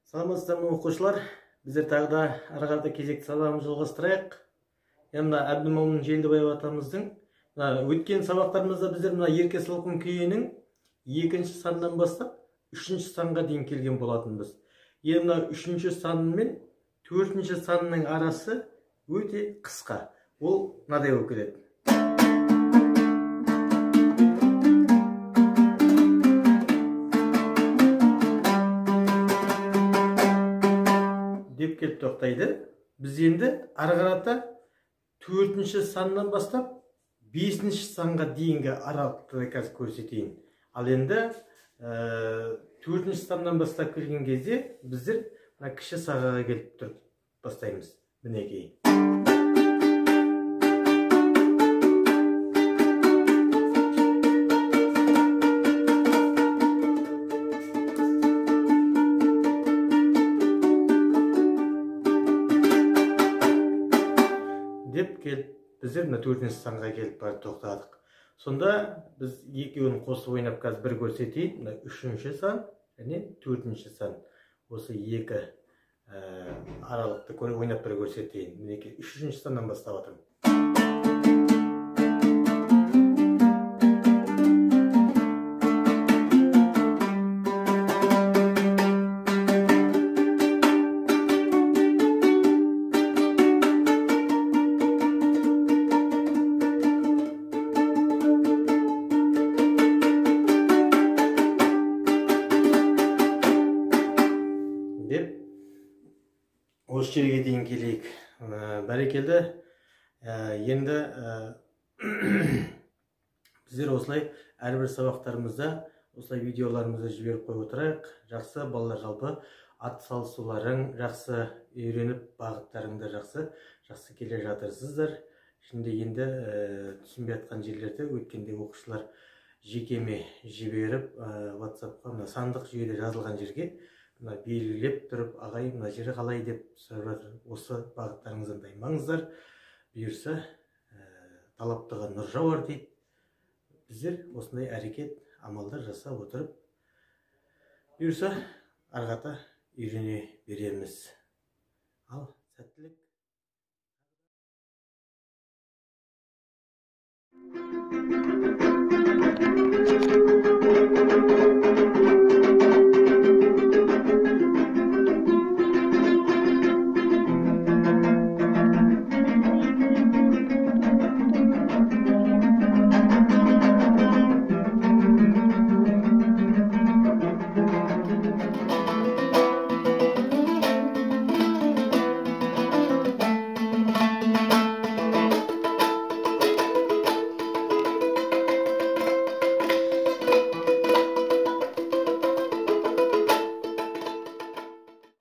Саламатсыздарбы окуучулар. Биздер дагы да ары карата кезекти сабагыбызды жалгастырайык. Мына Абдымомун Желдибаев атамыздын өткөн сабактарыбызда биздер мына Ерке Салкын күйүнүн 2-чи санынан баштап 3-чү санга дейин келген болатынбыз. Мына 3-чү сан менен 4-чү санның арасы өтө кыска. Ол мындай болуп келет. Деп келип токтойду. Биз энди ары карата 4-чү сандан баштап 5-чи санга дейинги аралыкты қазір көрсөтейин. Ал энди 4-чү сандан баштап келген кезде биздер мына киши сагага келип туруп баштайбыз. Минекей. Деп келип биздер мына 4-чү санга келип барып токтодук. Сонда биз экөөнү косуп ойноп қазір бир көрсөтейин. Мына 3-чү сан жана 4-чү сан. Осы эки аралыкты ойноп бир көрсөтейин. Минекей 3-чү сандан баштап атам. Деп осы жерге дейин келейик. Барекелде. Енді биздер осылай ар бир сабактарыбызда осылай видеоларыбызды жиберип коюп отурайык. Жакшы балдар, жалпы ат салышууларың жакшы, үйрөнүп багыттарыңда жакшы келе жатырсыздар. Şimdi енді түсінбей аткан жерлерде өткенде окуучулар жекеме жиберип WhatsApp'ка мына сандык жүйөдө жазылган жерге мына белгилеп туруп, агай мына жери калай деп сурап жатыр. Осы багыттарыңыздан таймаңыздар. Буюрса талаптыга нур жабар дейт. Биздер осындай аракет, амалдар жасап отуруп, буюрса ары карата үйрөнө беребиз. Ал сәттілік.